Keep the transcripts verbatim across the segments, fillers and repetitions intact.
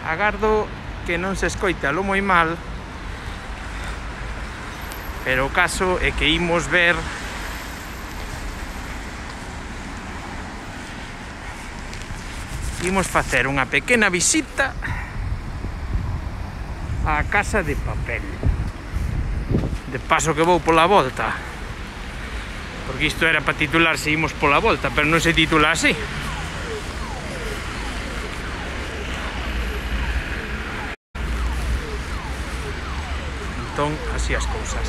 agardo que non se escoita lo moi mal, pero o caso é que imos ver imos facer unha pequena visita á Casa de Papel. De paso que vou pola volta, porque isto era para titularse imos pola volta, pero non se titula así. Entón, así as cousas.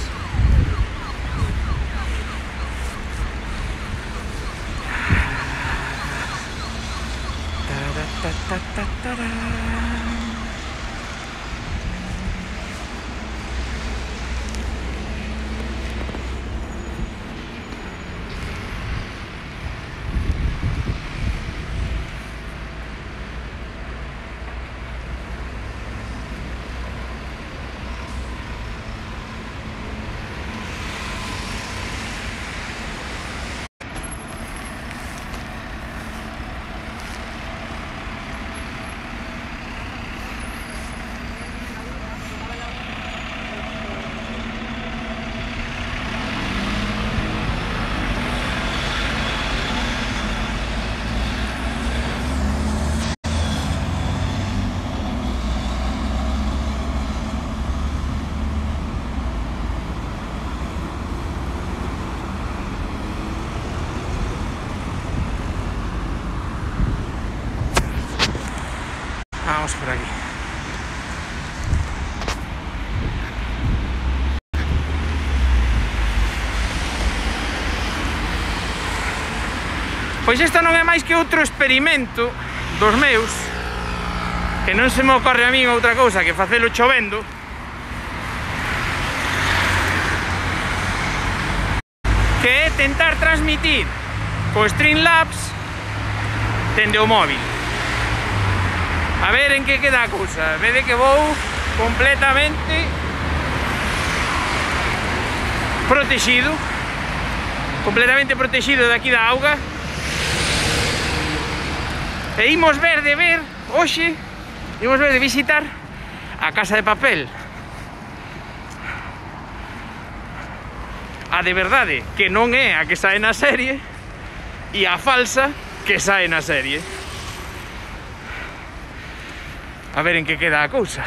Vamos por aquí. Pois isto non é máis que outro experimento dos meus, que non se me ocorre a min outra cousa que facelo chovendo. Que é tentar transmitir co Streamlabs dende o móvil. A ver en que queda a cousa. Vede que vou completamente protegido, completamente protegido de aquí da auga. E imos ver de ver hoxe, imos ver de visitar a Casa de Papel. A de verdade, que non é a que sae na serie, e a falsa que sae na serie. A ver en que queda a cousa.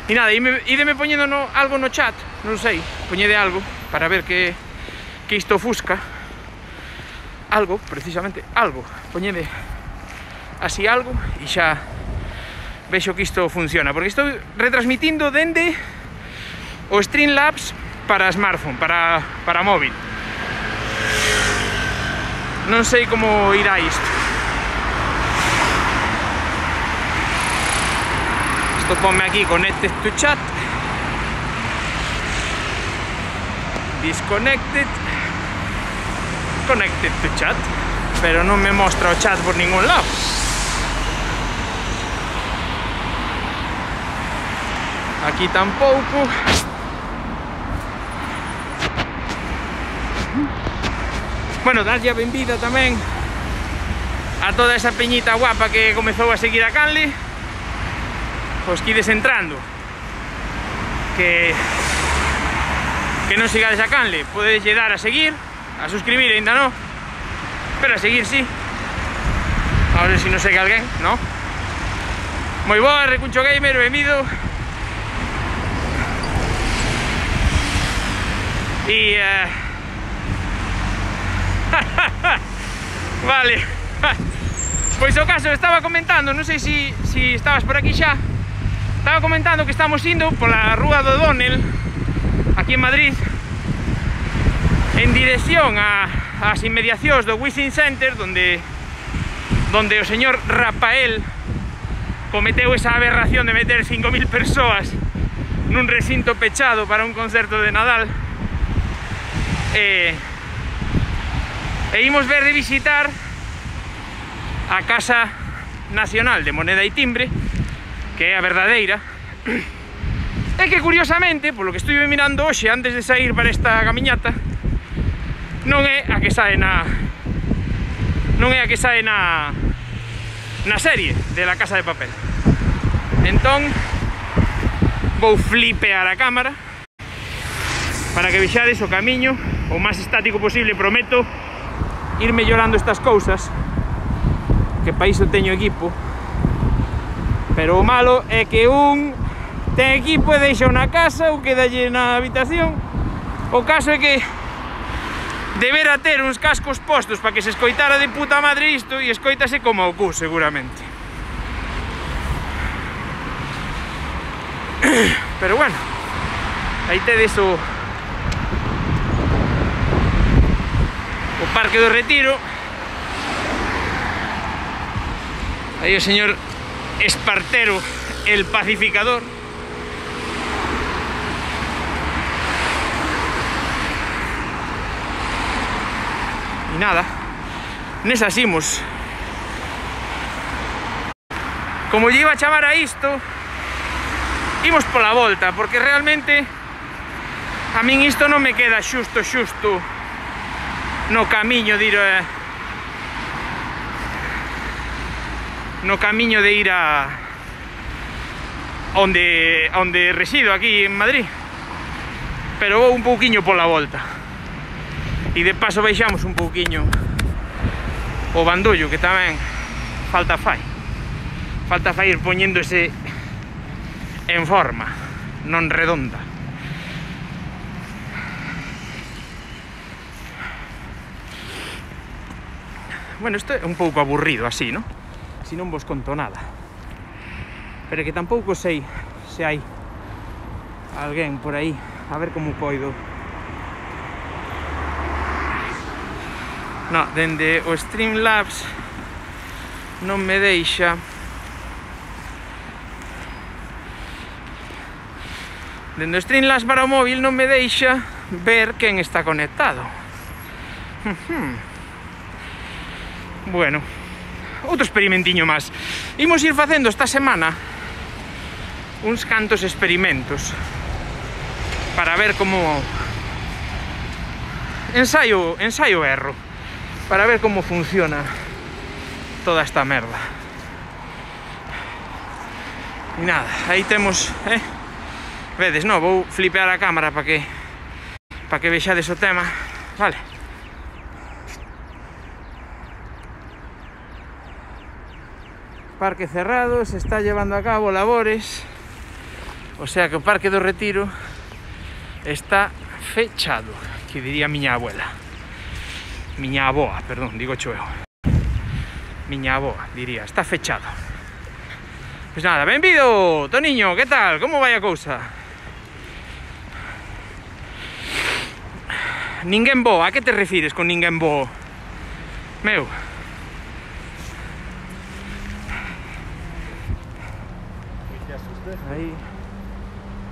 E nada, ídeme poñendo no, algo no chat, non sei, poñede algo para ver que, que isto ofusca. Algo, precisamente, algo. Poñede así algo e xa vexo que isto funciona, porque estou retransmitindo dende o Streamlabs para smartphone, para, para móvil. Non sei como irá isto. Isto ponme aquí, connected to chat. Disconnected. Connected to chat. Pero non me mostra o chat por ningún lado. Aquí tampouco. Bueno, darlle a benvida tamén a toda esa peñita guapa que comezou a seguir a Canle. Os que ides entrando, que que non sigades a Canle, podedes lle dar a seguir, a suscribir ainda non, pero a seguir sí. A ver se si non segue alguén, non? Moi boa, Recuncho Gamer, benvido. E uh... vale. Pois o caso, estaba comentando, non sei se si, si estabas por aquí xa. Estaba comentando que estamos indo pola Rúa do O'Donnell, aquí en Madrid, en dirección a, as inmediacións do Wishing Center, donde, donde o señor Rafael cometeu esa aberración de meter cinco mil persoas nun recinto pechado para un concerto de Nadal. E, e imos ver de visitar a Casa Nacional de Moneda e Timbre, que é a verdadeira. É que curiosamente, polo que estuve mirando hoxe antes de sair para esta camiñata, non é a que sae na non é a que sae na na serie de La Casa de Papel. Entón vou flipear a cámara para que vexades o camiño o máis estático posible. Prometo ir mellorando estas cousas, que para iso teño equipo, pero o malo é que un ten equipo e deixa na casa ou quedalle na habitación. O caso é que debera ter uns cascos postos para que se escoitara de puta madre isto, e escoitase como o cu, seguramente. Pero bueno, aí tedes o o Parque do Retiro. Aí o señor Espartero, el pacificador. E nada, nesas imos. Como lle iba a chamar a isto, imos pola volta, porque realmente a min isto non me queda xusto, xusto no camiño de ir a, no camiño de ir a onde, onde resido aquí en Madrid, pero vou un pouquiño pola volta e de paso baixamos un pouquiño o bandollo, que tamén falta fai falta fai ir poñéndose en forma, non redonda. Bueno, isto é un pouco aburrido así, ¿no? Si non vos conto nada. Pero que tampouco sei se hai alguén por aí. A ver como poido. No, dende o Streamlabs non me deixa. Dende o Streamlabs para o móvil non me deixa ver quen está conectado. Bueno, outro experimentiño máis. Imos ir facendo esta semana uns cantos experimentos para ver como ensaio, ensaio erro, para ver como funciona toda esta merda. E nada, aí temos, eh? Vedes, no, vou flipear a cámara para que para que vexades o tema, vale? Parque cerrado, se está llevando a cabo labores, o sea que o Parque do Retiro está fechado, que diría miña abuela, miña aboa, perdón, digo cho eu, miña aboa, diría, está fechado. Pois nada, benvido, Toniño, que tal, como vai a cousa? Ninguén bo, a que te refires con ninguén bo? Meu, aí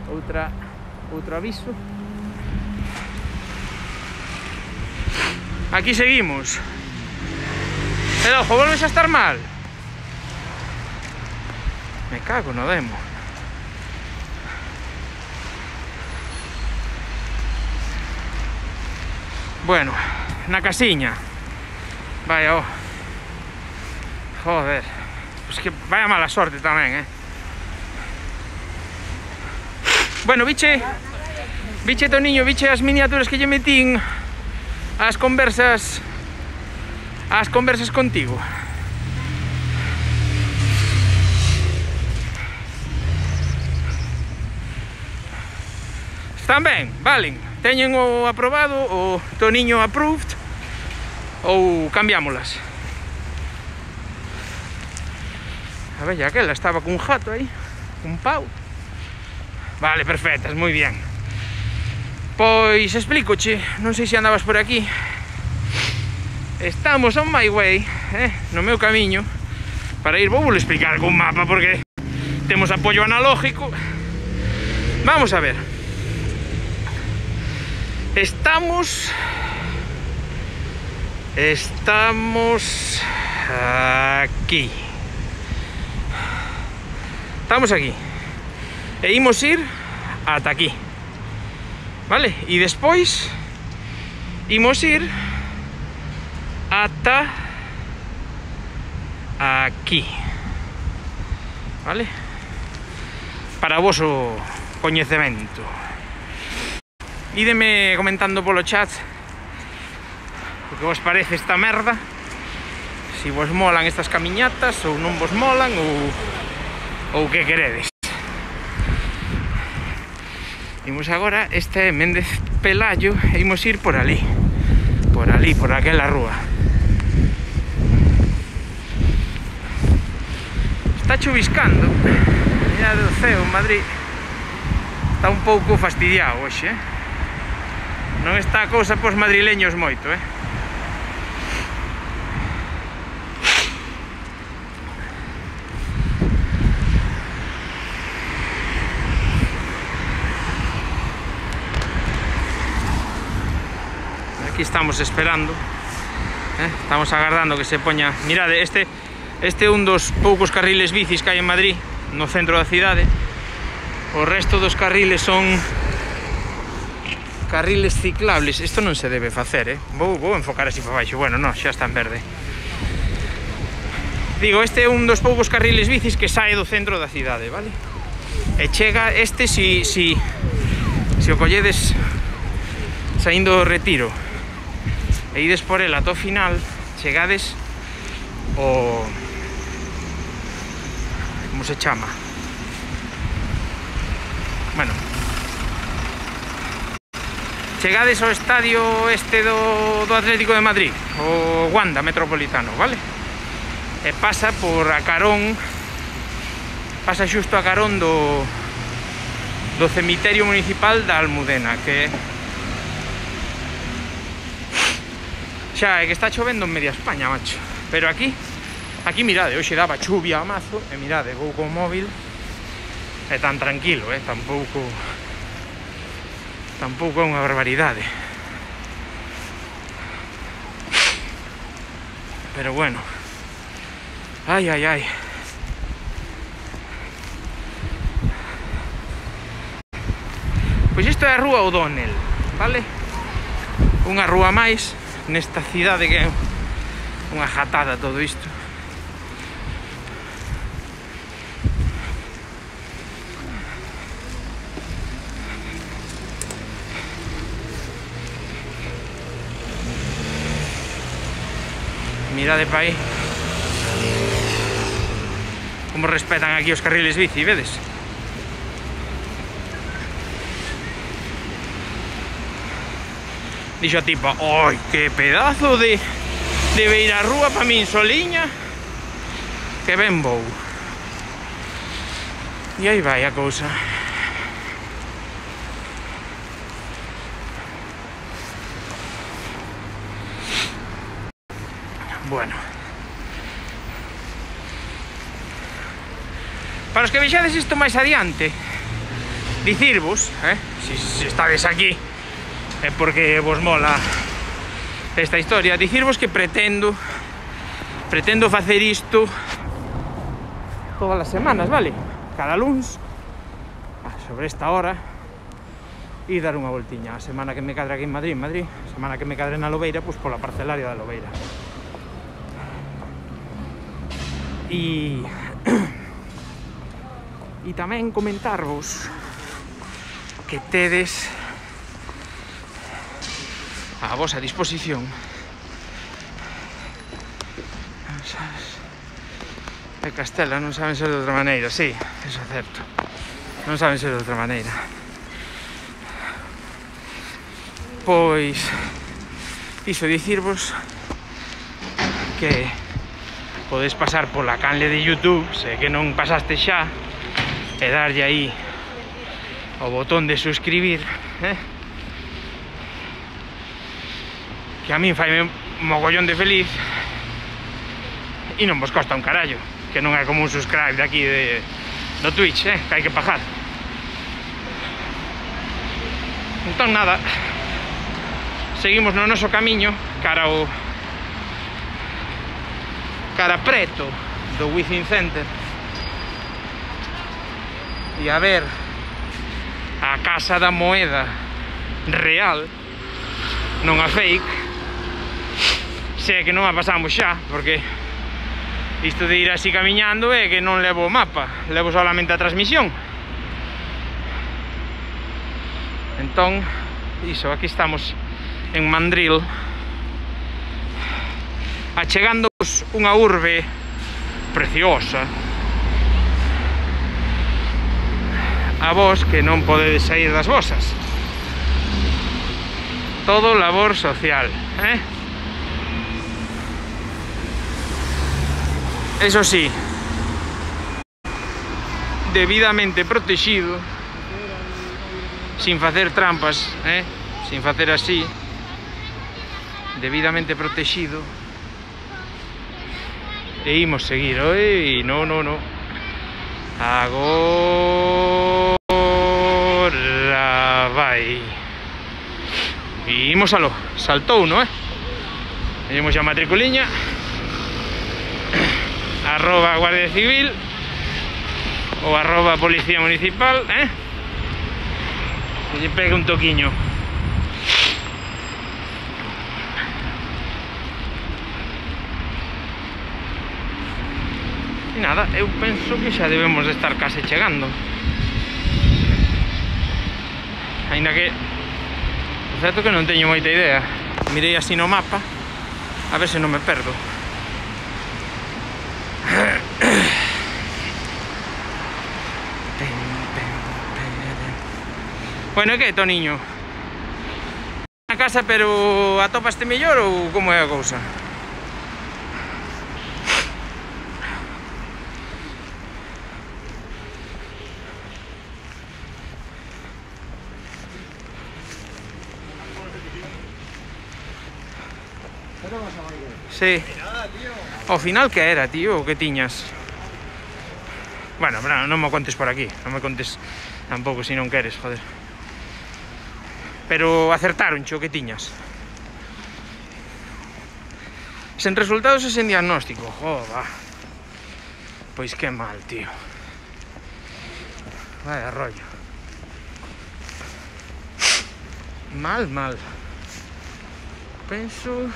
outra outro aviso. Aquí seguimos. Pero ojo, volves a estar mal. Me cago no demo. Bueno, na casiña. Vaya, oh. Joder. Pues que vaya mala sorte tamén, eh. Bueno, biche, biche Toniño, biche as miniaturas que lle metín as conversas as conversas contigo. Están ben, valen. Teñen o aprobado, o Toniño approved, ou cambiámolas. A ver, ya aquela estaba cun jato aí, cun pau. Vale, perfectas, moi bien. Pois explícoche, non sei se andabas por aquí. Estamos on my way, eh, no meu camiño para ir, vou vos explicar con mapa porque temos apoio analógico. Vamos a ver. Estamos Estamos aquí. Estamos aquí. E imos ir ata aquí, vale? E despois imos ir ata aquí, vale? Para o voso coñecemento. Ídeme comentando polo chat o que vos parece esta merda, si vos molan estas camiñatas ou non vos molan, ou ou que queredes. Imos agora, este é Méndez Pelayo, e imos ir por ali, por ali, por aquela rúa. Está chuviscando, mirade o ceo en Madrid, está un pouco fastidiado hoxe, eh? Non está a cousa pos madrileños moito, eh? Aquí estamos esperando, eh? Estamos agardando que se poña. Mirade, este este é un dos poucos carriles bicis que hai en Madrid, no centro da cidade. O resto dos carriles son carriles ciclables. Isto non se debe facer, eh? Vou, vou enfocar así para baixo. Bueno, non, xa está en verde. Digo, este é un dos poucos carriles bicis que sae do centro da cidade, vale? E chega este si, si, si o colledes saindo do Retiro e ides por el ata o final, chegades o... como se chama? Bueno, chegades ao estadio este do, do Atlético de Madrid, o Wanda Metropolitano, vale? E pasa por a carón, pasa xusto a carón do, do cemiterio municipal da Almudena, que xa é que está chovendo en media España, macho. Pero aquí, aquí mirade, hoxe daba chuvia a mazo, e mirade, vou con o móvil, é tan tranquilo, eh, tampouco... Tampouco é unha barbaridade. Pero bueno. Ai, ai, ai. Pois isto é a Rúa O'Donnell, vale? Unha rúa máis nesta cidade que é unha jatada todo isto. Mirade pa aí como respetan aquí os carriles bici, vedes? Dixo a tipa, oi, que pedazo de de beirarrúa pa min soliña, que ben vou. E aí vai a cousa. Bueno, para os que vexades isto máis adiante, dicirvos, eh, se si, si estades aquí é porque vos mola esta historia, dicirvos que pretendo pretendo facer isto todas as semanas, vale? Cada luns sobre esta hora e dar unha voltiña. A semana que me cadre aquí en Madrid, en Madrid, a semana que me cadre na Lobeira, pois pola parcelaria da Lobeira. E e tamén comentarvos que tedes a vosa disposición de Castela, non saben ser de outra maneira. Sí, eso é certo, non saben ser de outra maneira. Pois iso, dicirvos que podes pasar pola canle de YouTube, se que non pasaste xa, e darlle aí o botón de suscribir, eh? Que a min faime mogollón de feliz e non vos costa un carallo, que non é como un subscribe de aquí de, do Twitch, eh? Que hai que pagar. Entón nada, seguimos no noso camiño cara ao cara preto do Within Center e a ver a Casa da Moeda real, non a fake, se é que non a pasamos xa, porque Isto de ir así camiñando é que non levo o mapa, levo solamente a transmisión. Entón, iso, aquí estamos en Mandril, achegándoos unha urbe preciosa a vos que non podedes sair das vosas. Todo labor social, eh? Eso sí, debidamente protegido, sin facer trampas, eh? Sin facer así, debidamente protegido. E imos seguir, oi, no, no, no. Agora vai. E imos alo, saltou, no, eh? Temos a matriculiña. Arroba Guardia Civil ou arroba Policía Municipal, eh? Que lle pega un toquiño. E nada, eu penso que xa debemos de estar case chegando. Ainda que o certo que non teño moita idea. Mirei así no mapa a ver se non me perdo. Bueno, e que, Toniño? Na casa, pero atopaste mellor ou como é a cousa? Sí. Ao final que era, tío? O que tiñas? Bueno, non me contes por aquí. Non me contes tampouco se non queres, joder. Pero acertaron, o que tiñas? Sen resultados e sen diagnóstico. Joda. Pois que mal, tío. Vaya rollo. Mal, mal. Penso...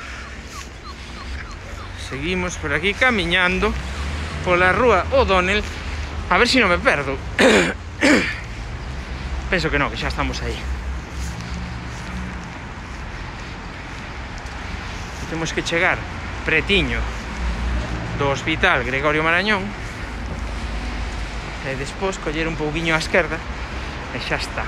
Seguimos por aquí camiñando pola rúa O'Donnell. A ver se non me perdo. Penso que non, que xa estamos aí. Temos que chegar pretiño do Hospital Gregorio Marañón e despois coller un pouquiño á esquerda e xa está.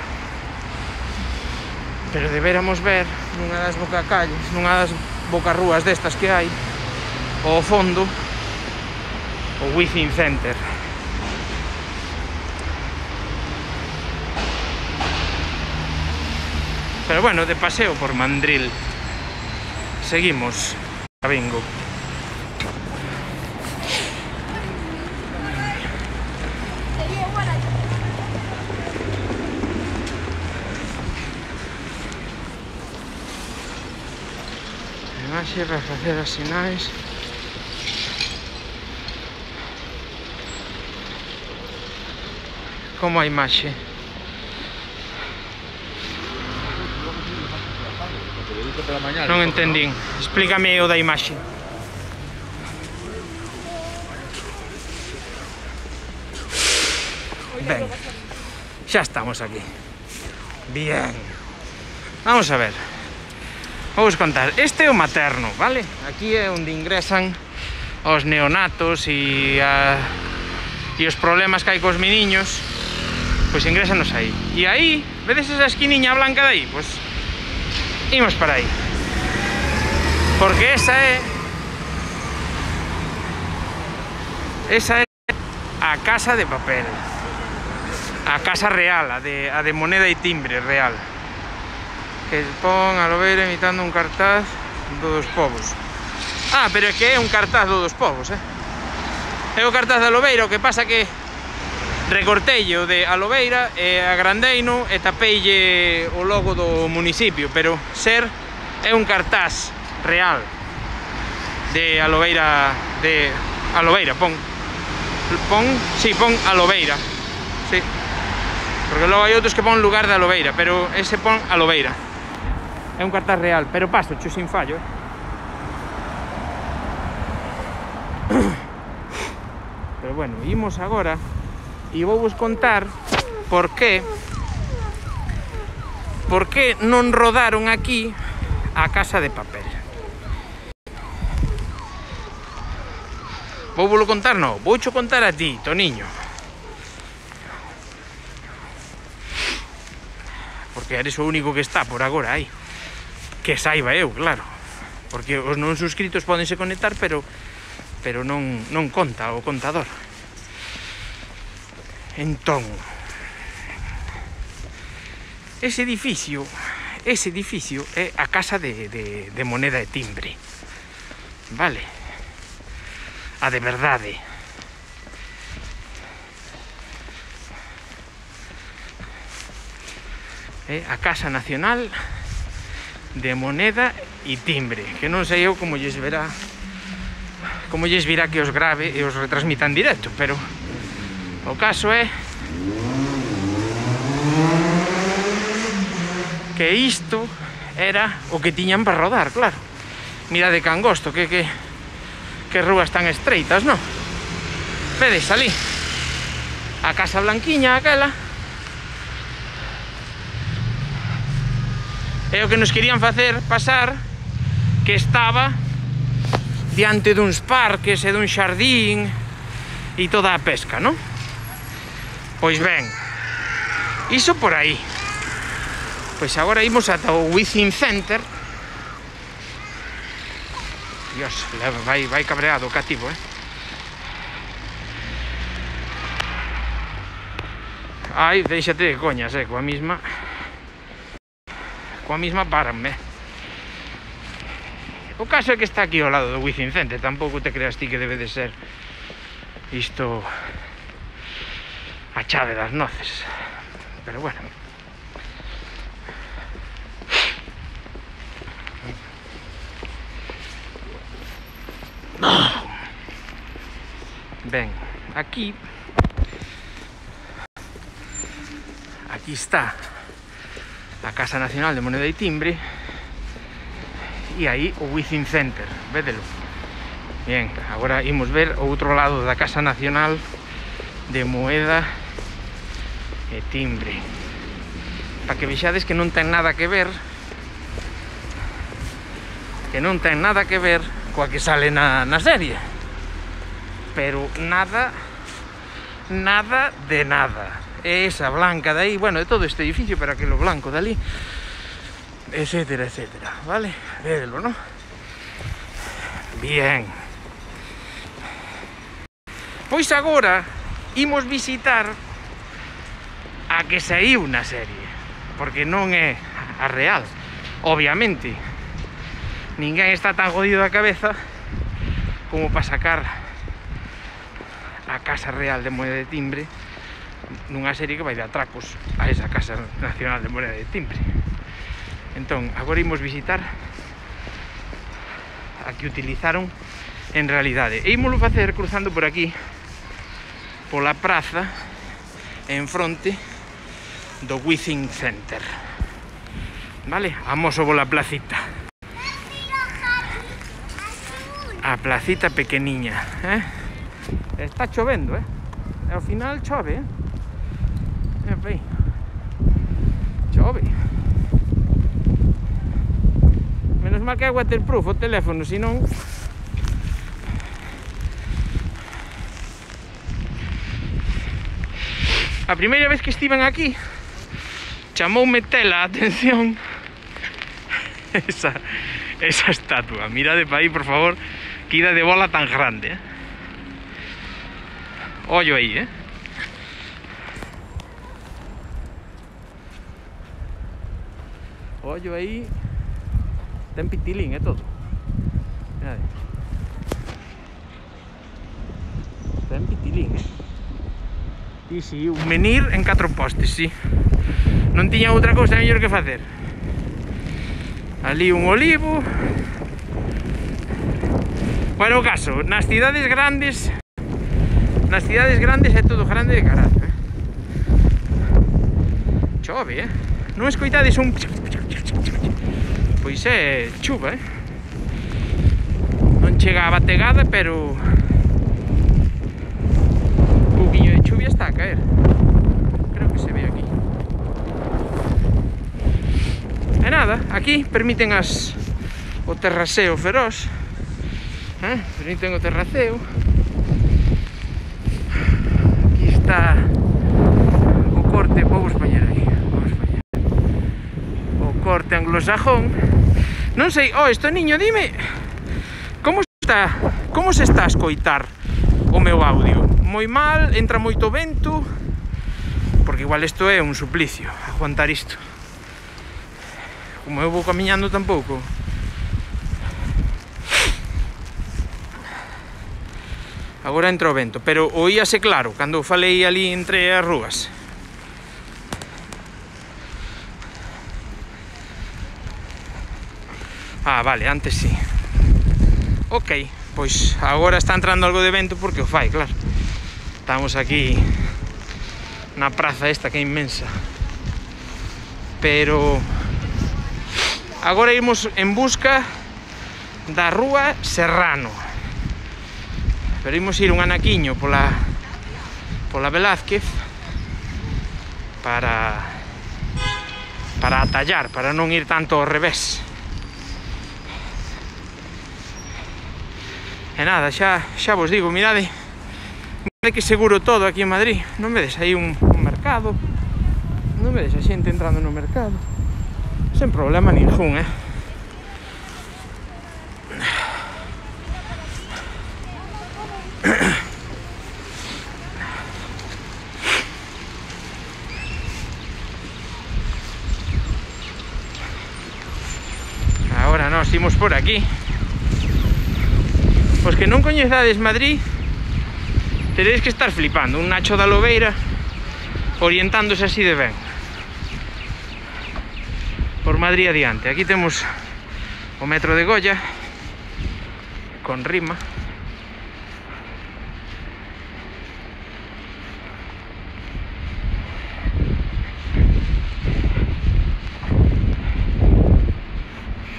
Pero deberamos ver nunha das bocacalles, nunha das bocarrúas destas que hai ao fondo o Within Center. Pero bueno, de paseo por Mandril seguimos a bingo. Imaxe para facer as sinais. Como a imaxe? Non entendín. Explícame o da imaxe. Ben, xa estamos aquí. Bien. Vamos a ver. Vamos contar. Este é o materno, vale? Aquí é onde ingresan os neonatos e a... e os problemas que hai cos meniños. Pois ingrésanos aí. E aí, vedes esa esquiniña blanca de aí? Pois imos para aí. Porque esa é esa é a casa de papel. A casa real, a de, a de moneda e timbre real. Que pon a Lobeira imitando un cartaz do dos povos. Ah, pero é que é un cartaz do dos povos, eh? É o cartaz da Lobeira, o que pasa que recorteille o de Alobeira e agrandeino e tapeille o logo do municipio, pero ser é un cartaz real de Alobeira, de Alobeira, pon pon, si, sí, pon Alobeira, sí, porque logo hai outros que pon lugar de Alobeira, pero ese pon Alobeira. É un cartaz real, pero paso, cho sin fallo, eh? Pero bueno, imos agora e vou vos contar por que por que non rodaron aquí a Casa de Papel. Vou vos contar, non, vou cho contar a ti, Toniño. Porque eres o único que está por agora aí. Que saiba eu, claro. Porque os non suscritos podense conectar, pero pero non, non conta o contador. Entón, ese edificio, ese edificio é a Casa de, de, de Moneda e Timbre. Vale? A de verdade. É a Casa Nacional de Moneda e Timbre, que non sei eu como lles verá, como lles virá que os grave e os retransmita en directo, pero o caso é que isto era o que tiñan para rodar, claro. Mira de Cangosto, que, que, que rúas tan estreitas, non? Vedes, ali a Casa Blanquiña aquela. É o que nos querían facer pasar, que estaba diante duns parques e dun xardín e toda a pesca, non? Pois ben, iso por aí. Pois agora imos ata o Within Center. Dios, vai, vai cabreado o cativo, eh? Ai, deixate de coñas, eh, coa misma... Coa misma paranme. O caso é que está aquí ao lado do Within Center. Tampouco te creas ti que debe de ser isto a chave das noces. Pero bueno. Ben, aquí aquí está a Casa Nacional de Moneda e Timbre e aí o Within Center, védelo. Bien, agora imos ver o outro lado da Casa Nacional de Moeda e Timbre, para que vexades que non ten nada que ver que non ten nada que ver coa que sale na, na serie, pero nada nada de nada. Esa blanca de aí, bueno, de todo este edificio, pero aquilo blanco de ali, etcétera, etcétera, vale? Védelo, ¿no? Bien. Pois agora imos visitar a que saiu na serie, porque non é a real, obviamente. Ninguén está tan jodido da cabeza como para sacar a Casa Real de Moneda e Timbre nunha serie que vai de atracos a esa Casa Nacional de Moneda e Timbre. Entón, agora imos visitar a que utilizaron en realidade. E ímoslo facer cruzando por aquí, pola praza, en fronte do Within Center. Vale? Amoso pola placita. A placita pequeniña, eh? Está chovendo, eh? E ao final chove, eh? Aí. Chove. Menos mal que é waterproof o teléfono, senón... A primeira vez que estiven aquí chamoume tela a atención esa, esa estatua. Mirade para aí, por favor, que ida de bola tan grande, eh? Ollo aí, eh? Ollo aí. Ten pitilín e todo. Mirade. Ten pitilín, eh? Sí, sí, un menir en catro postes, sí. Non tiña outra cousa mellor que facer. Ali un olivo. Bueno, o caso, nas cidades grandes Nas cidades grandes é todo grande de carallo, eh? Chove, eh? Non escoitades un... Pois é chuva, eh? Non chega a bategada, pero... aquí permiten as o terraseo feroz, eh? permiten o terraceo. Aquí está o corte, vamos poñer aí, vamos poñer o corte anglosajón. Non sei, oh, isto niño, dime como está, como se está a escoitar o meu audio? Moi mal, entra moito vento, porque igual isto é un suplicio, aguantar isto. Como eu vou camiñando tampouco. Agora entra o vento, pero oíase claro cando falei ali entre as rúas. Ah, vale, antes sí. Ok, pois agora está entrando algo de vento porque o fai, claro. Estamos aquí na praza esta que é inmensa. Pero agora imos en busca da rúa Serrano. Pero imos ir un anaquiño pola pola Velázquez para para atallar, para non ir tanto ao revés. E nada, xa, xa vos digo, mirade, mirade que seguro todo aquí en Madrid. Non vedes aí un, un mercado, non vedes a xente entrando no mercado sen problema ningún, eh? Ahora nos imos por aquí. Os que non coñezades Madrid teréis que estar flipando. Un Nacho da Lobeira orientándose así de ben por Madrid adiante. Aquí temos o metro de Goya con rima.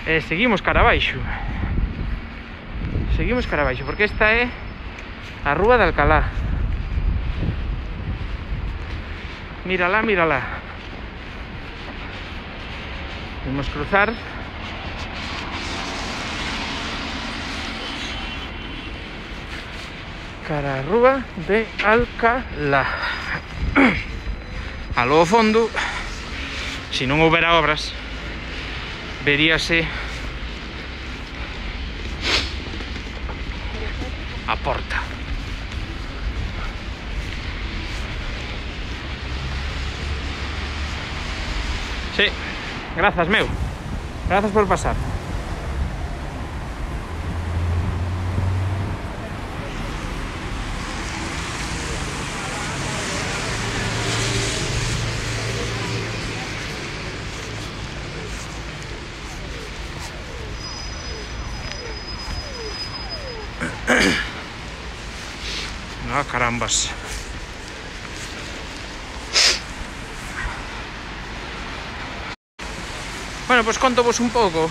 E seguimos cara abaixo. Seguimos cara abaixo, porque esta é a Rúa de Alcalá. Mírala, mírala. Vamos cruzar. Cara a Rúa de Alcalá. A lo fondo, se non houbera obras, veríase a porta. Sí, grazas, meu. Grazas por pasar. Ah, carambas. Bueno, pues contovos un pouco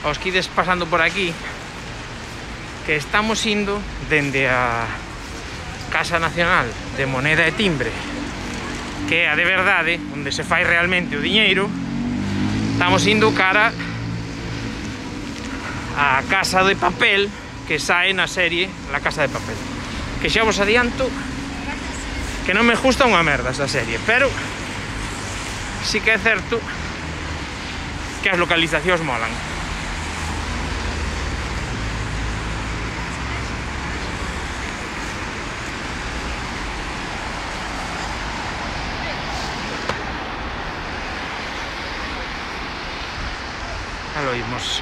aos que ides pasando por aquí que estamos indo dende a Casa Nacional de Moneda e Timbre, que é a de verdade, onde se fai realmente o diñeiro. Estamos indo cara a Casa de Papel, que sae na serie La Casa de Papel, que xa vos adianto que non me gusta unha merda esa serie, pero sí que é certo que as localizacións molan. Xa lo oímos.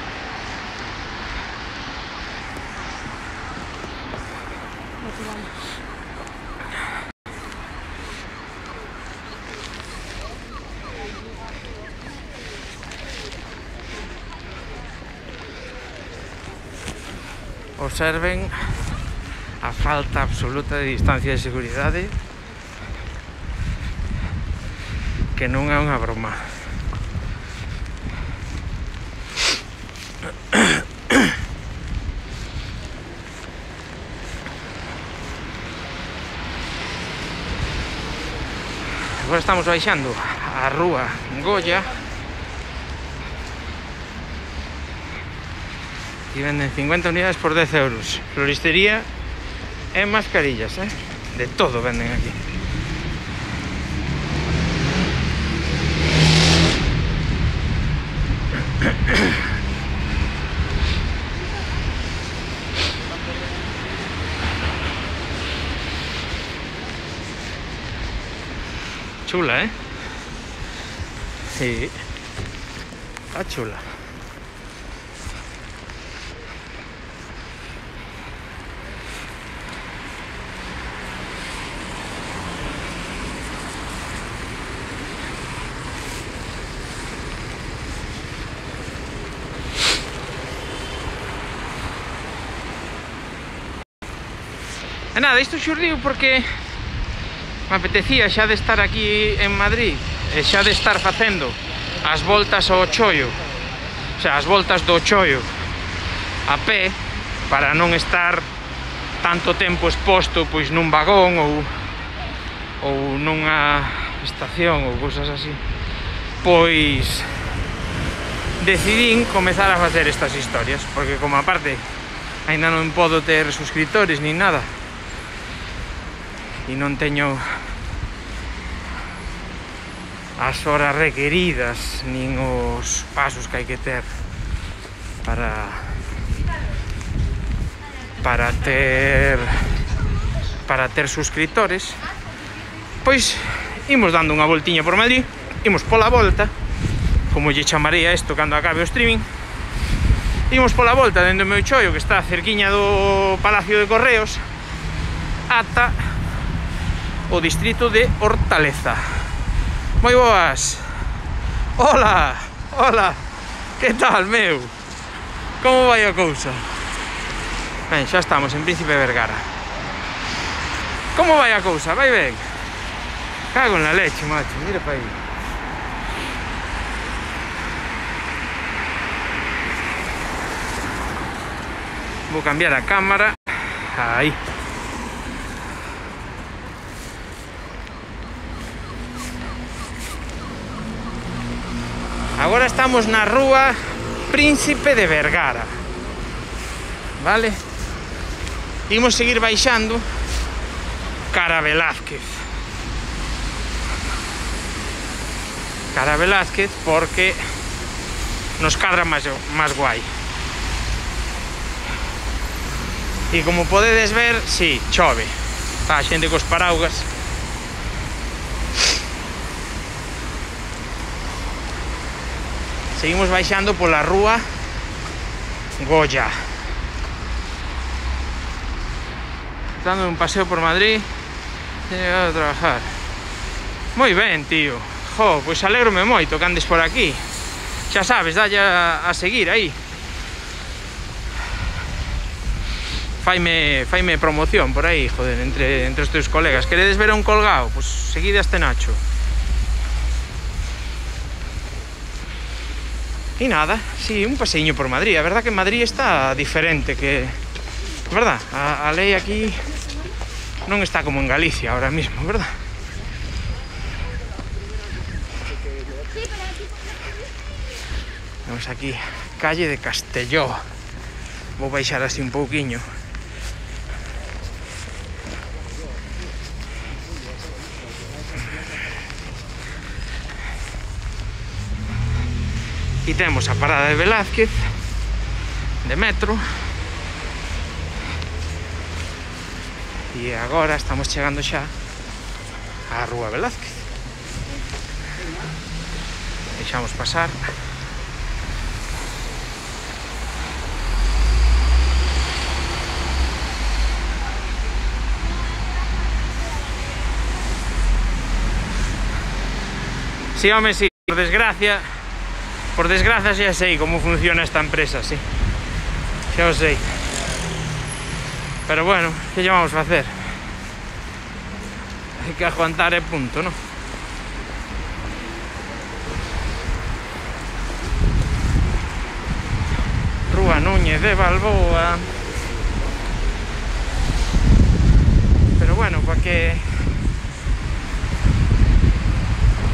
Observen a falta absoluta de distancia de seguridade, que non é unha broma. Agora estamos baixando a Rúa Goya Aquí venden cincuenta unidades por dez euros. Floristería e mascarillas, eh? De todo venden aquí. Chula, ¿eh? Sí. Está chula. E nada, isto xurdiu porque me apetecía xa de estar aquí en Madrid e xa de estar facendo as voltas ao Chollo, o sea, as voltas do Chollo a pé, para non estar tanto tempo exposto pois nun vagón ou ou nunha estación ou cousas así. Pois decidín comezar a facer estas historias, porque como aparte ainda non podo ter suscriptores nin nada e non teño as horas requeridas nin os pasos que hai que ter para para ter para ter suscriptores, pois imos dando unha voltiña por Madrid, imos pola volta, como lle chamarei a isto cando acabe o streaming. Imos pola volta dentro do meu chollo, que está cerquiña do Palacio de Correos, ata o distrito de Hortaleza. Moi boas. Hola, hola. Que tal, meu? Como vai a cousa? Ben, xa estamos en Príncipe Vergara. Como vai a cousa? Vai ben? Cago en la leche, macho. Mira para aí. Vou cambiar a cámara. Aí. Agora estamos na rúa Príncipe de Vergara, vale? Imos seguir baixando cara a Velázquez. Cara a Velázquez porque nos cadra máis, máis guai. E como podedes ver, si, sí, chove. Está a xente cos paraugas. Seguimos baixando pola rúa Goya, dando un paseo por Madrid. He llegado a trabajar. Moi ben, tío. Jo, pois alegrome moito que andes por aquí. Xa sabes, dalle a, a seguir aí. Faime, faime promoción por aí, joder, entre, entre os teus colegas. Queredes ver a un colgado? Pois seguide a este Nacho. E nada, sí, un paseiño por Madrid. A verdad que Madrid está diferente, que... verdad, a, a lei aquí non está como en Galicia ahora mismo, verdad? Vamos aquí, calle de Castelló. Vou baixar así un pouquiño. E temos a parada de Velázquez de metro. E agora estamos chegando xa á rúa Velázquez. Deixamos pasar. Si, home, si, por desgracia Por desgracia xa sei como funciona esta empresa, sí. Xa o sei. Pero bueno, que lle vamos a facer? Hai que aguantar e punto, non? Rúa Núñez de Balboa. Pero bueno, para que...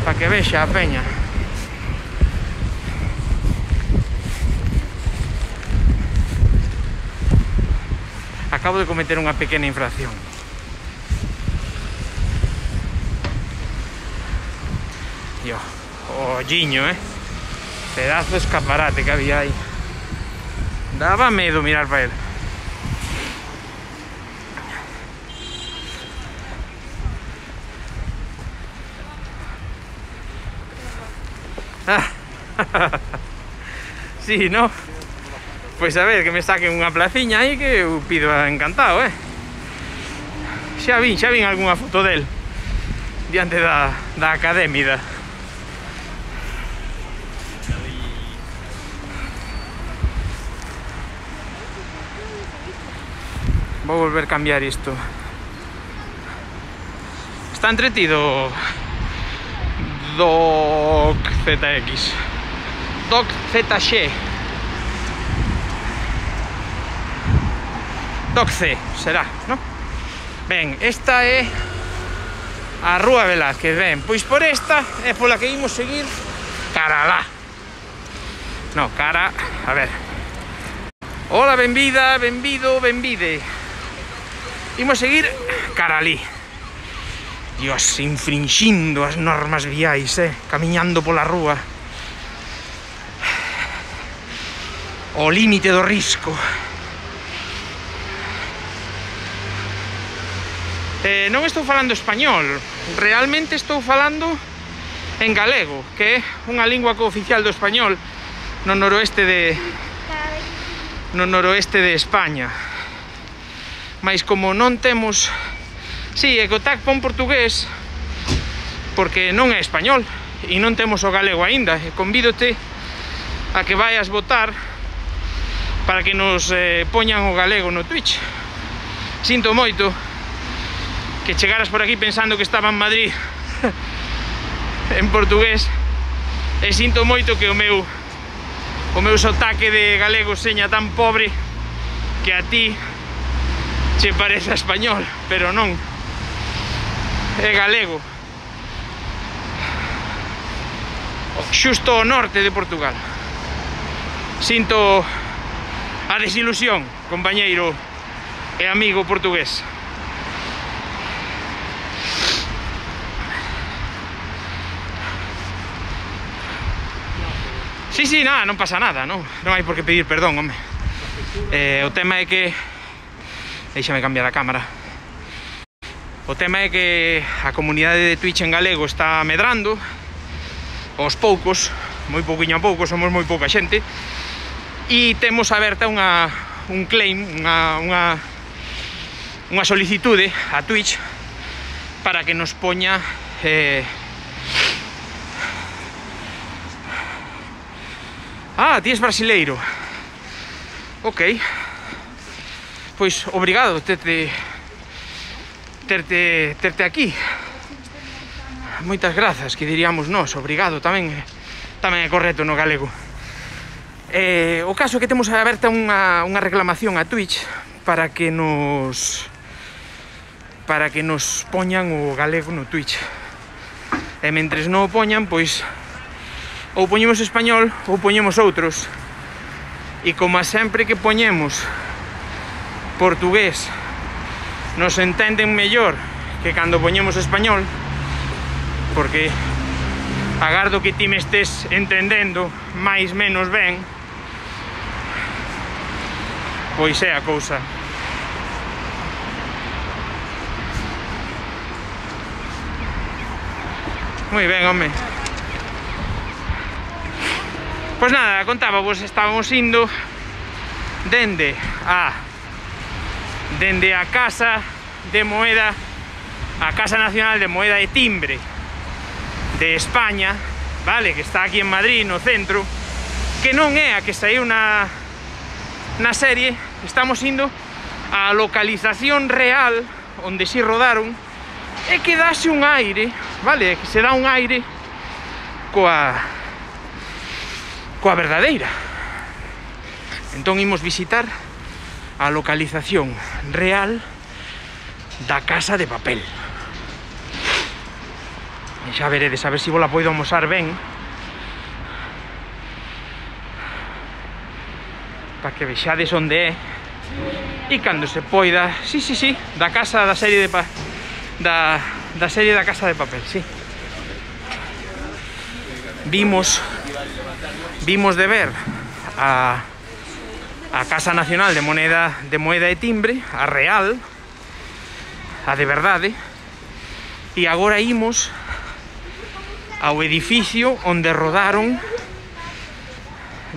para que vexa a peña. acabo de cometer unha pequena infracción. Yo, olliño, eh? Pedazo de escaparate que había aí. Daba medo mirar para él. Sí, ¿no? Pois a ver, que me saquen unha placiña aí que eu pido encantado, eh? Xa vin, xa vin algunha foto del diante da, da académia. Vou volver a cambiar isto. Está entretido Doc Z X, Doc Z X, Doc C, será, ¿no? Ben, esta é a Rúa Velázquez, ben, pois por esta é pola que imos seguir cara alá. No, cara, a ver. Hola, benvida, benvido, benvide. Imos seguir cara alí. Dios, infringindo as normas viais, eh? Camiñando pola rúa. O límite do risco. Eh, non estou falando español. Realmente estou falando en galego, que é unha lingua cooficial do español no noroeste de... no noroeste de España. Mais como non temos... Si, sí, Ecotac pon portugués porque non é español e non temos o galego aínda. E convídote a que vayas votar para que nos eh, poñan o galego no Twitch. Sinto moito que chegaras por aquí pensando que estaba en Madrid en portugués, e sinto moito que o meu o meu sotaque de galego seña tan pobre que a ti che parece español, pero non. É galego, xusto ao norte de Portugal. Sinto a desilusión, compañeiro e amigo portugués. Sí, sí, nada, non pasa nada, non, non hai por que pedir perdón, home. Eh, o tema é que... Déixame cambiar a cámara. O tema é que a comunidade de Twitch en galego está medrando aos poucos, moi pouquiño a pouco, somos moi pouca xente, e temos aberta unha, un claim, unha, unha, unha solicitude a Twitch para que nos poña eh... Ah, ti és brasileiro. Ok. Pois obrigado, tete... Terte, terte aquí. Moitas grazas, que diríamos nós. Obrigado tamén, tamén é correcto no galego. eh, O caso é que temos aberta unha, unha reclamación a Twitch para que nos para que nos poñan o galego no Twitch. E mentres non o poñan, pois ou poñemos español ou poñemos outros. E como a sempre que poñemos portugués nos entenden mellor que cando poñemos español, porque agardo que ti me estés entendendo máis menos ben, pois é a cousa. Moi ben, home. Pois nada, contaba, vos estábamos indo dende a dende a Casa de Moeda, a Casa Nacional de Moeda e Timbre de España, vale, que está aquí en Madrid, no centro, que non é a que saiu na, na serie. Estamos indo á localización real onde si rodaron, e que dase un aire, vale, que se dá un aire coa coa verdadeira. Entón imos visitar a localización real da Casa de Papel. E xa veredes, a ver se vos la poido amosar ben, para que vexades onde é. e cando se poida, sí, sí, sí, da casa da serie de pa, da, da serie da Casa de Papel, sí. Vimos vimos de ver a a Casa Nacional de Moneda de Moeda e Timbre, a real, a de verdade, e agora imos ao edificio onde rodaron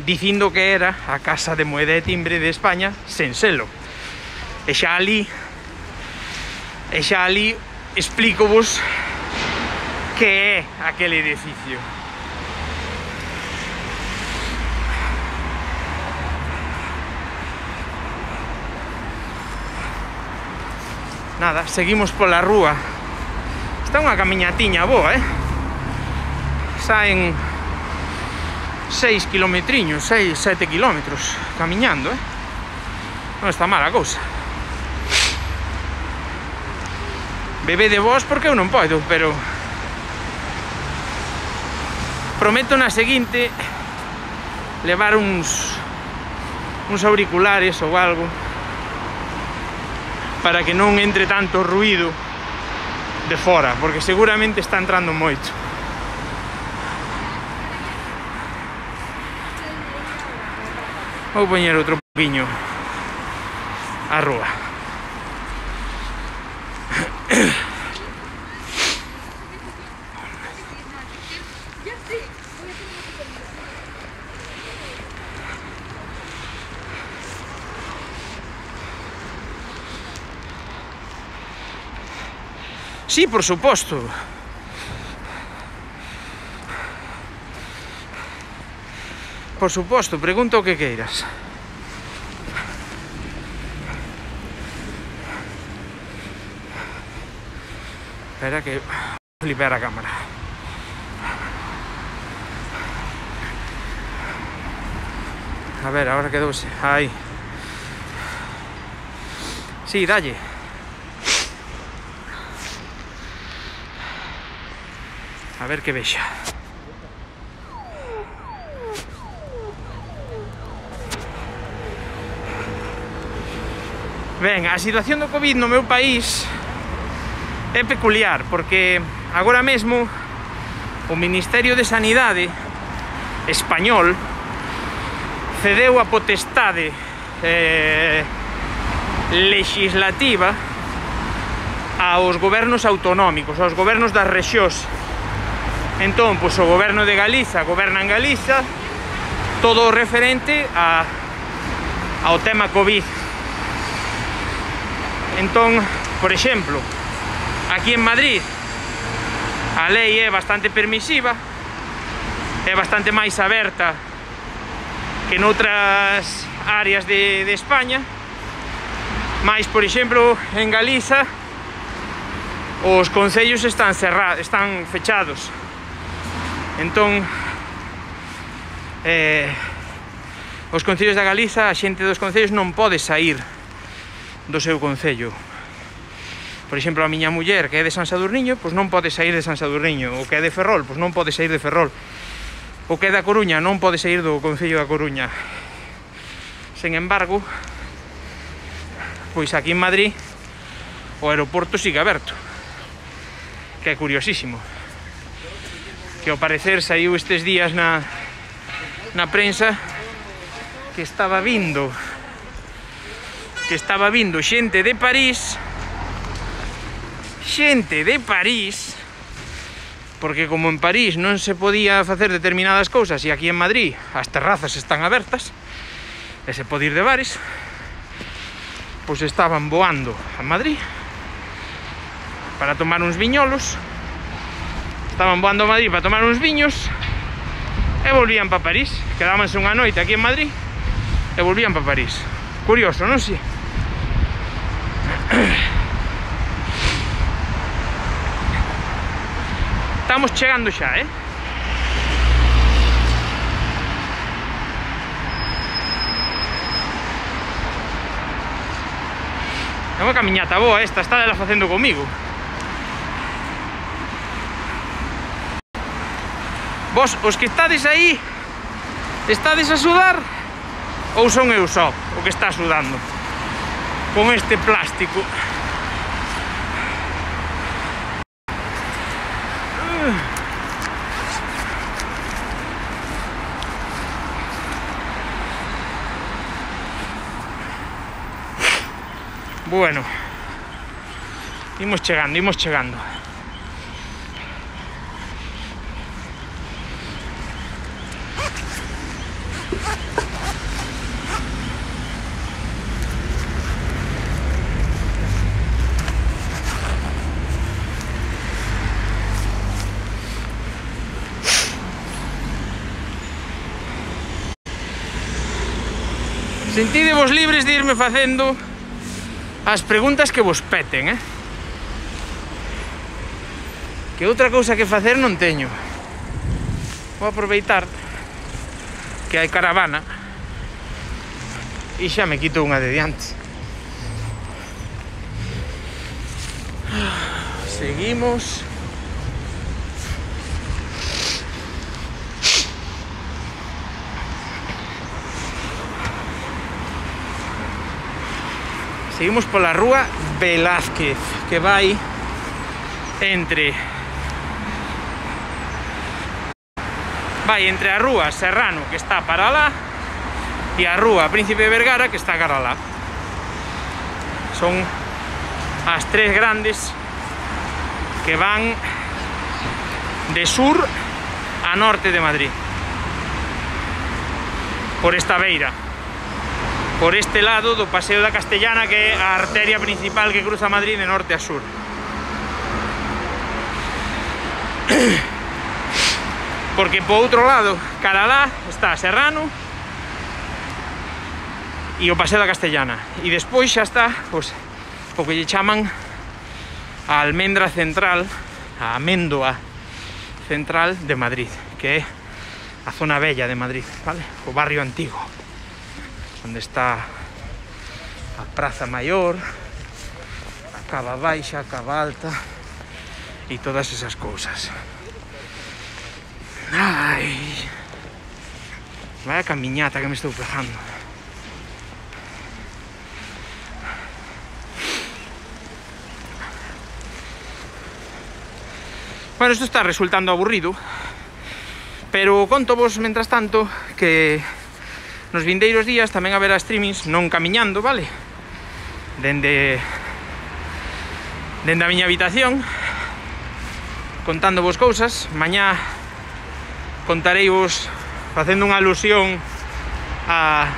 dicindo que era a Casa de Moeda e Timbre de España sen selo. E xa ali e xa ali explícovos que é aquele edificio. Nada, seguimos pola rúa. Está unha camiñatiña boa, eh? Saen seis kilometriños, seis, sete kilómetros camiñando, eh? Non está mala cousa. Bebé de vos porque eu non podo, pero prometo na seguinte levar uns uns auriculares ou algo para que non entre tanto ruído de fora, porque seguramente está entrando moito. Vou poñer outro poquinho a rúa. Sí, por suposto. Por suposto, pregunta o que queiras. Espera que vou flipar a cámara. A ver, ahora quedouse. Aí. Sí, dalle. A ver que vexa. Ben, a situación do Covid no meu país é peculiar, porque agora mesmo o Ministerio de Sanidade español cedeu a potestade eh, legislativa aos gobernos autonómicos, aos gobernos das rexións. Entón, pois, o goberno de Galiza goberna en Galiza todo o referente a, ao tema Covid. Entón, por exemplo, aquí en Madrid a lei é bastante permisiva, é bastante máis aberta que noutras áreas de, de España, mas, por exemplo, en Galiza os concellos están cerrados, están fechados. Entón, eh, os concellos da Galiza, a xente dos concellos non pode sair do seu concello. Por exemplo, a miña muller, que é de San Sadurniño, pois non pode sair de San Sadurniño. O que é de Ferrol, pois non pode sair de Ferrol. O que é da Coruña non pode sair do concello da Coruña. Sen embargo, pois aquí en Madrid o aeroporto sigue aberto, que é curiosísimo. Que ao parecer saiu estes días na, na prensa que estaba vindo que estaba vindo xente de París xente de París porque como en París non se podía facer determinadas cousas e aquí en Madrid as terrazas están abertas e se pode ir de bares, pois estaban voando a Madrid para tomar uns viñolos. Estaban voando a Madrid para tomar uns viños e volvían para París. Quedábanse unha noite aquí en Madrid e volvían para París. Curioso, non si? Estamos chegando xa, eh? É unha camiñata boa esta, está ela facendo comigo. Vos, os que estades aí, estades a sudar ou son eu só o que está sudando? con este plástico. Bueno, imos chegando, imos chegando. Sentidevos libres de irme facendo as preguntas que vos peten, eh? Que outra cousa que facer non teño. Vou aproveitar que hai caravana e xa me quito unha de diante. Seguimos. Seguimos pola rúa Velázquez, que vai entre vai entre a rúa Serrano, que está para lá, e a rúa Príncipe de Vergara, que está cara lá. Son as tres grandes que van de sur a norte de Madrid, por esta beira, por este lado do Paseo da Castellana, que é a arteria principal que cruza Madrid de norte a sur. Porque po outro lado, cara lá, está Serrano e o Paseo da Castellana. E despois xa está, pois, o que lle chaman a almendra central, a améndoa central de Madrid, que é a zona bella de Madrid, vale? O barrio antigo, onde está a Praza Maior, a Cava Baixa, a Cava Alta e todas esas cousas. Ai, vaya camiñata que me estou pegando. Bueno, isto está resultando aburrido, pero conto vos, mentras tanto, que nos vindeiros días tamén haberá streamings, non camiñando, vale? Dende Dende a miña habitación, contándovos cousas. Mañá contareivos, facendo unha alusión a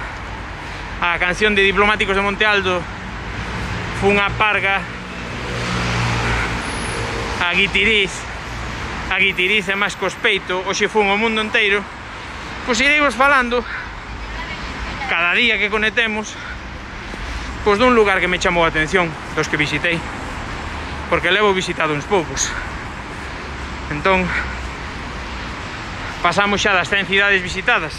a canción de Diplomáticos de Monte Alto, fun a Parga, a Guitiriz, a Guitiriz e máis cospeito, hoxe fun ao mundo inteiro. Pois ireivos falando cada día que conectemos, pois dun lugar que me chamou a atención, dos que visitei, porque levo visitado uns poucos. Entón, pasamos xa das cen cidades visitadas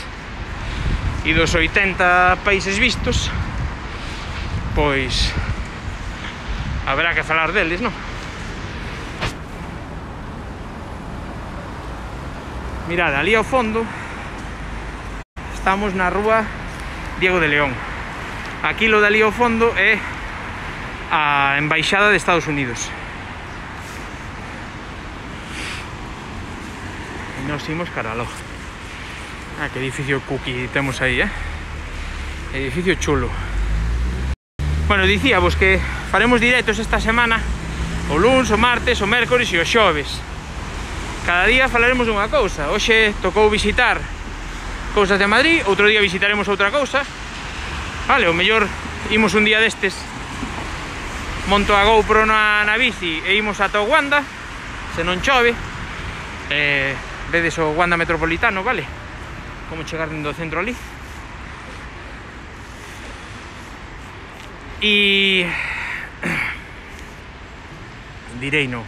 e dos oitenta países vistos, pois haberá que falar deles, non? Mirad, ali ao fondo estamos na rúa Diego de León. Aquí lo de ali ao fondo é a Embaixada de Estados Unidos. E nos imos caraló. Ah, que edificio cookie temos aí, eh? Edificio chulo. Bueno, dicíavos que faremos directos esta semana, o luns, o martes, o mércores e o xoves. Cada día falaremos dunha cousa. Hoxe tocou visitar cousas de Madrid, outro día visitaremos outra cousa. Vale, o mellor imos un día destes, monto a GoPro na, na bici e imos ata o Wanda, se non chove. Eh, vedes o Wanda Metropolitano, vale? Como chegar dentro do centro ali. E direi no.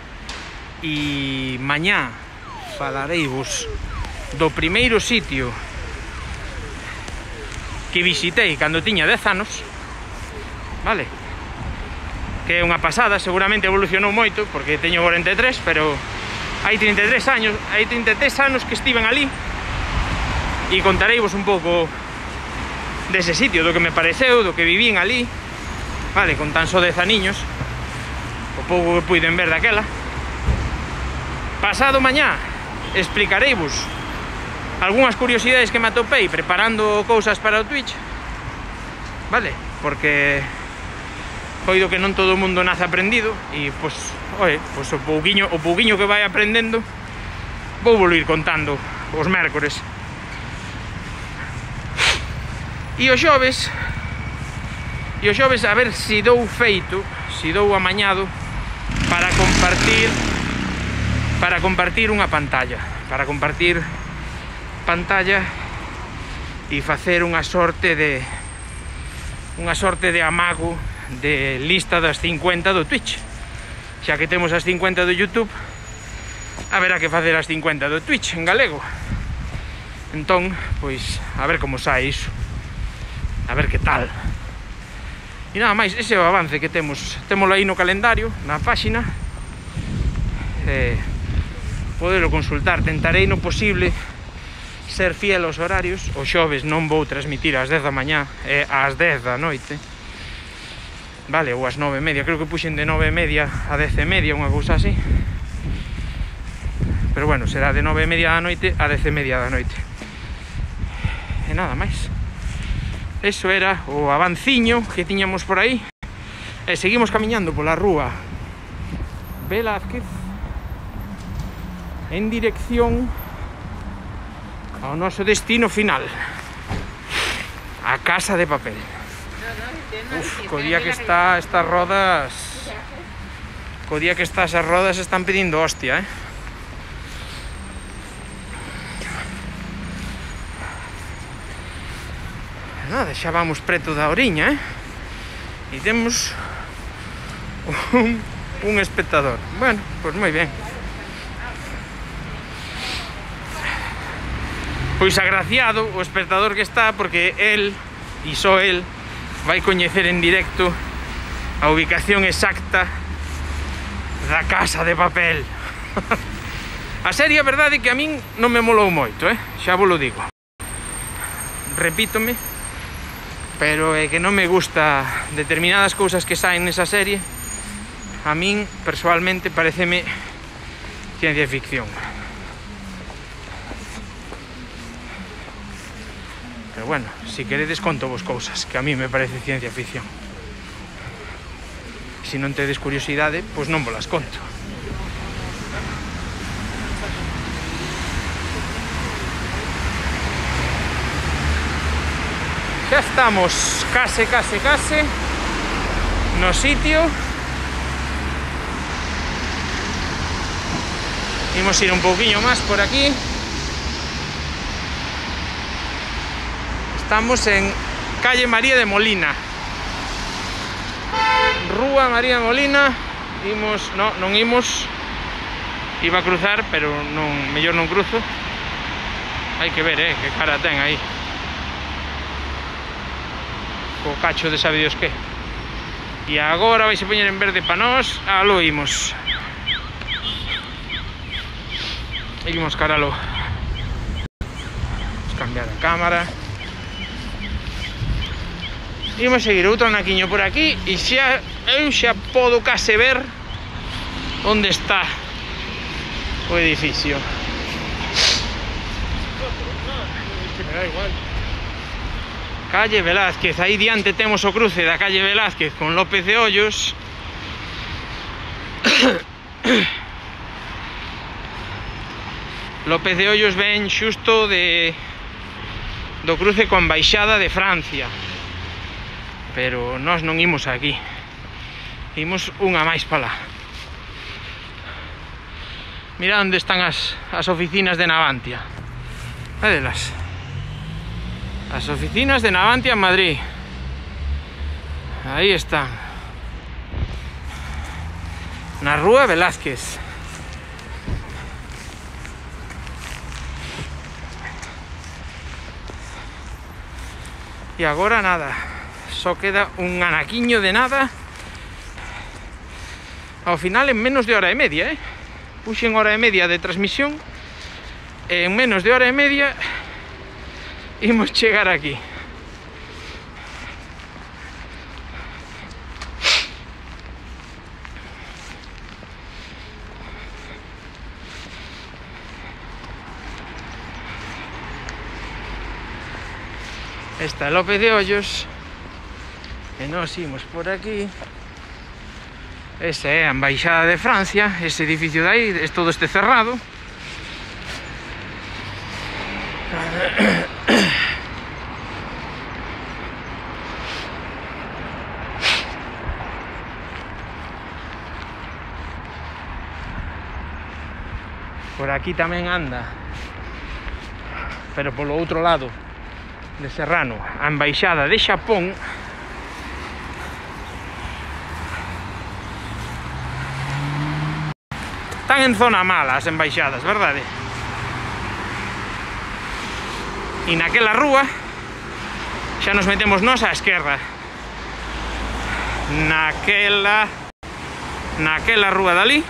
E mañá falareivos do primeiro sitio que visitei cando tiña dez anos, vale? Que é unha pasada, seguramente evolucionou moito, porque teño cuarenta e tres, pero hai trinta e tres anos, hai trinta e tres anos que estiven ali, e contareivos un pouco dese sitio, do que me pareceu, do que vivín ali, vale, con tan só dez aniños, o pouco que puiden ver daquela. Pasado mañá explicareivos algunhas curiosidades que me atopei preparando cousas para o Twitch, vale, porque coido que non todo o mundo nace aprendido e, pois, oe, pois o pouquiño, o pouquiño que vai aprendendo vou volver contando os mércores. E o xoves E o xoves a ver se dou feito, se dou amañado para compartir para compartir unha pantalla, para compartir pantalla e facer unha sorte de unha sorte de amago de lista das cincuenta do Twitch. Xa que temos as cincuenta do YouTube, haberá que facer as cincuenta do Twitch en galego. Entón, pois, a ver como sai iso, a ver que tal. E nada máis, ese é o avance que temos. Témolo aí no calendario, na páxina, eh, podelo consultar. Tentarei no posible ser fiel aos horarios. O xoves non vou transmitir ás dez da mañá, e ás dez da noite, vale, ou ás nove e media. Creo que puxen de nove e media a dez e media, unha cousa así. Pero bueno, será de nove e media da noite a dez e media da noite. E nada máis. Eso era o avanciño que tiñamos por aí. E seguimos camiñando pola rúa Velázquez en dirección ao noso destino final, a Casa de Papel. Uf, co día que está estas rodas, co día que estas as rodas están pedindo hostia, eh. Nada, xa vamos preto da oriña, eh? E temos un, un espectador. Bueno, pois moi ben. Pois agraciado o espectador que está, porque el, e só el, vai coñecer en directo a ubicación exacta da Casa de Papel. A serie, a verdade, que a min non me molou moito, eh? Xa vos lo digo. Repítome, pero é que non me gusta determinadas cousas que saen nesa serie. A min, persoalmente, pareceme ciencia ficción. Pero bueno, si queredes conto vos cousas que a mí me parece ciencia ficción. Se non tedes curiosidade, pois non vos las conto. Xa estamos case, case, case no sitio. Imos ir un pouquiño máis por aquí. Estamos en calle María de Molina, Rúa María de Molina. Imos, no, non imos. Iba a cruzar, pero non, mellor non cruzo. Hai que ver, eh, que cara ten aí o cacho de sabe Dios que. E agora vai se poñer en verde para nós. Aló imos. Imos caralo. Vamos cambiar a cámara. Imos seguir outro naquiño por aquí. E xa, eu xa podo case ver onde está o edificio. Me da igual. Calle Velázquez, aí diante temos o cruce da calle Velázquez con López de Hoyos. López de Hoyos ven xusto de do cruce con Embaixada de Francia, pero nós non imos aquí, imos unha máis para lá. Mira onde están as, as oficinas de Navantia. Vedelas. As oficinas de Navantia en Madrid. Aí están. Na Rúa Velázquez. E agora nada. Só queda un anaquiño de nada. Ao final en menos de hora e media, eh? Puxen hora e media de transmisión. E en menos de hora e media imos chegar aquí. Esta é López de Ollos. E nós imos por aquí. Esa é a Embaixada de Francia. Ese edificio de aí, é todo este cerrado. Por aquí tamén anda, pero polo outro lado de Serrano, a Embaixada de Xapón. Están en zona mala as embaixadas, verdade? E naquela rúa xa nos metemos nós á esquerda. Naquela Naquela rúa dali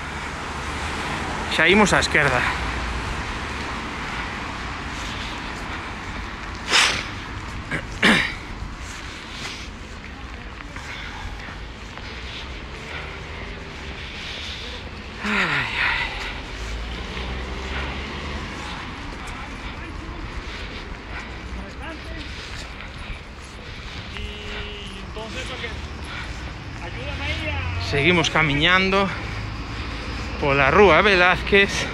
xa imos á esquerda. Seguimos camiñando pola rúa Velázquez.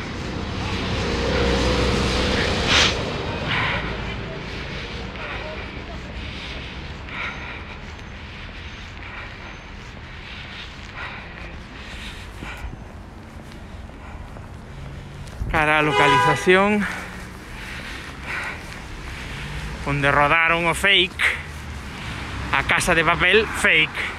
Cara a localización onde rodaron o fake, a Casa de Papel fake.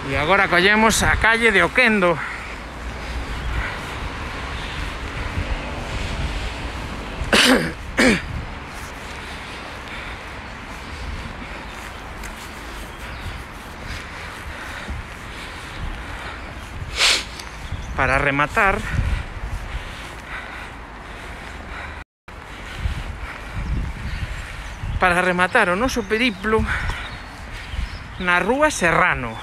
E agora collemos a calle de Oquendo. Para rematar, para rematar o noso periplo na rúa Serrano,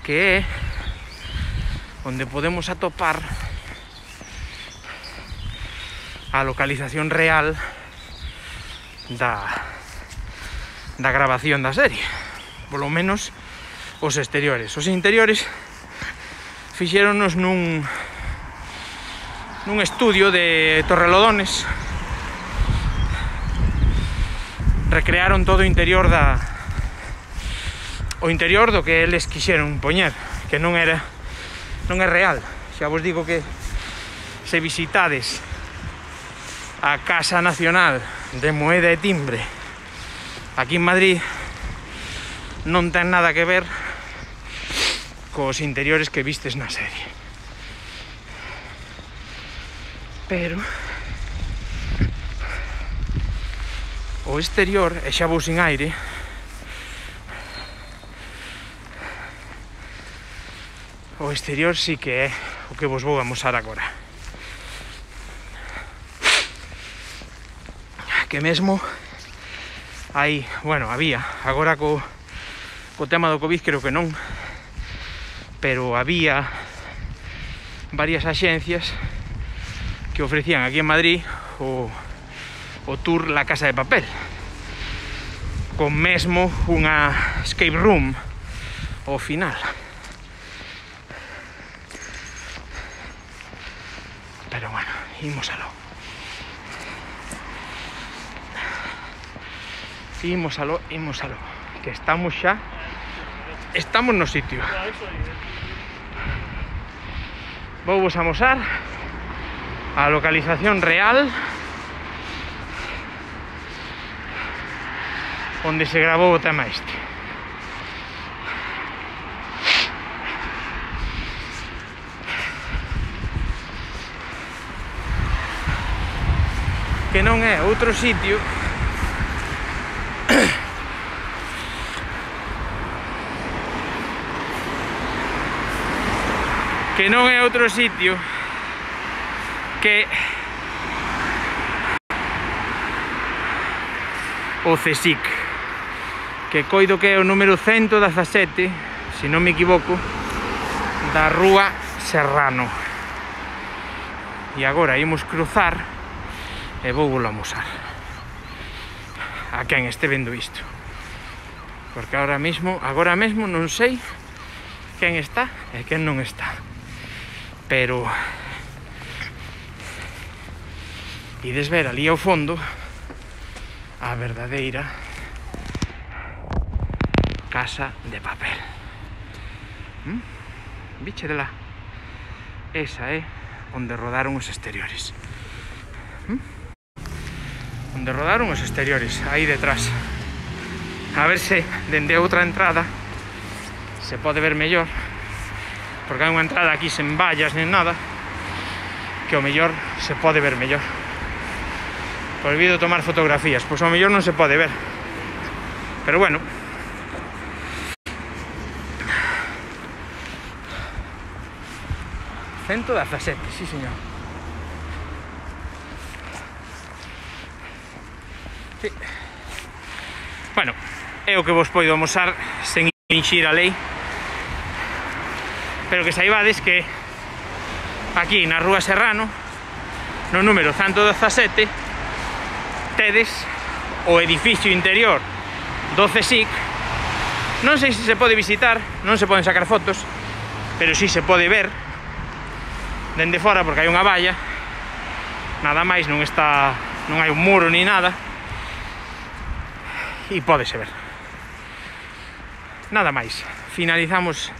que é onde podemos atopar a localización real da, da grabación da serie, polo menos os exteriores. Os interiores fixéronos nun nun estudio de Torrelodones. Recrearon todo o interior da o interior do que eles quixeron poñer, que non era non é real. Xa vos digo que se visitades a Casa Nacional de Moeda e Timbre aquí en Madrid, non ten nada que ver cos interiores que vistes na serie. Pero o exterior, e xa vou sin aire, o exterior sí que é o que vos vou amosar agora. Que mesmo hai, bueno, había, agora co, co tema do Covid creo que non, pero había varias axencias que ofrecían aquí en Madrid o, o tour La Casa de Papel, con mesmo unha escape room ao final. Pero bueno, imos aló. Imos aló, imos aló. Que estamos xa, estamos no sitio. Vou vos amosar a localización real onde se grabou o tema este. Que non é outro sitio que non é outro sitio que o CSIC, que coido que é o número ciento dezasete, se non me equivoco, da Rúa Serrano. E agora imos cruzar e vou volo amosar a quen este vendo isto, porque agora mesmo, agora mesmo non sei quen está e quen non está, pero ides ver ali ao fondo a verdadeira Casa de Papel. ¿Mm? Viche de lá, esa é onde rodaron os exteriores. ¿Mm? Onde rodaron os exteriores, aí detrás. A ver se dende outra entrada se pode ver mellor, porque hai unha entrada aquí sen vallas nen nada, que o mellor se pode ver mellor. Prohibido tomar fotografías, pois ao mellor non se pode ver, pero bueno. ciento dezasete, sí señor. Sí. Bueno, é o que vos poido amosar sen infringir a lei, pero que saibades que aquí na Rúa Serrano, no número ciento dezasete, tedes o edificio interior do CSIC. Non sei se se pode visitar, non se poden sacar fotos, pero si se pode ver dende fora, porque hai unha valla, nada máis, non está, non hai un muro ni nada, e pódese ver. Nada máis, finalizamos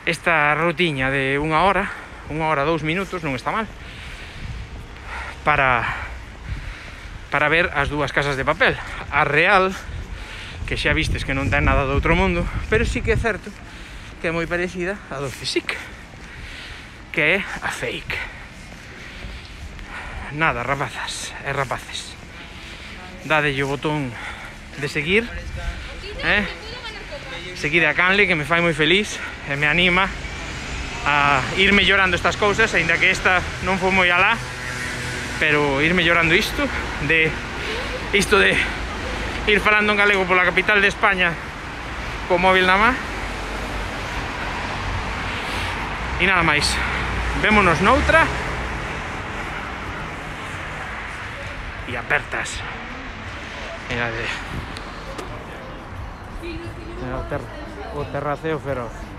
esta rutiña de unha hora, unha hora, dous minutos, non está mal, para para ver as dúas Casas de Papel. A real, que xa vistes que non ten nada do outro mundo, pero sí que é certo que é moi parecida a do CSIC, que é a fake. Nada, rapazas e rapaces, dadelle o botón de seguir, eh? Seguide a canle, que me fai moi feliz e me anima a ir mellorando estas cousas, aínda que esta non foi moi alá, pero ir mellorando isto, de isto de ir falando en galego pola capital de España co móvil na má. E nada máis, vémonos noutra e apertas. Mira de... Mira o, ter... o terraceo feroz.